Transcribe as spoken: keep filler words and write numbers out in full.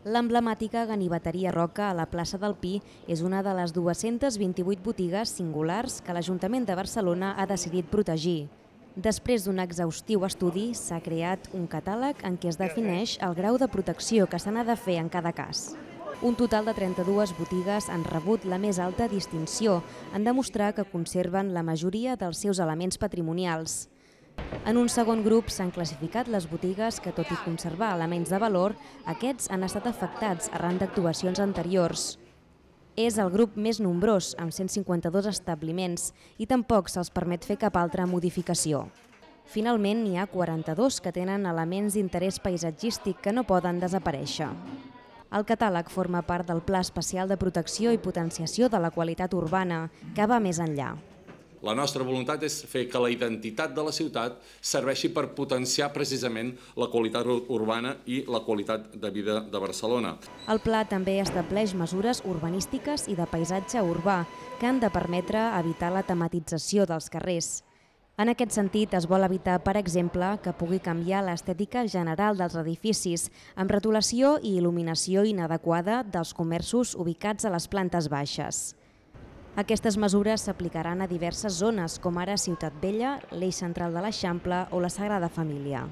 L'emblemàtica ganiveteria Roca a la plaça del Pi és una de les dues-centes vint-i-vuit botigues singulars que l'Ajuntament de Barcelona ha decidit protegir. Després d'un exhaustiu estudi, s'ha creat un catàleg en què es defineix el grau de protecció que se n'ha de fer en cada cas. Un total de trenta-dues botigues han rebut la més alta distinció en demostrar que conserven la majoria dels seus elements patrimonials. En un segon grup s'han classificat les botigues que, tot i conservar elements de valor, aquests han estat afectats arran d'actuacions anteriors. És el grup més nombrós, amb cent cinquanta-dos establiments, i tampoc se'ls permet fer cap altra modificació. Finalment, n'hi ha quaranta-dos que tenen elements d'interès paisatgístic que no poden desaparèixer. El catàleg forma part del Pla Especial de Protecció i Potenciació de la Qualitat Urbana, que va més enllà. La nostra voluntat és fer que la identitat de la ciutat serveixi per potenciar precisament la qualitat urbana i la qualitat de vida de Barcelona. El pla també estableix mesures urbanístiques i de paisatge urbà que han de permetre evitar la tematització dels carrers. En aquest sentit, es vol evitar, per exemple, que pugui canviar l'estètica general dels edificis amb retolació i il·luminació inadequada dels comerços ubicats a les plantes baixes. Aquestes mesures s'aplicaran a diverses zones, com ara Ciutat Vella, l'Eix Central de l'Eixample o la Sagrada Família.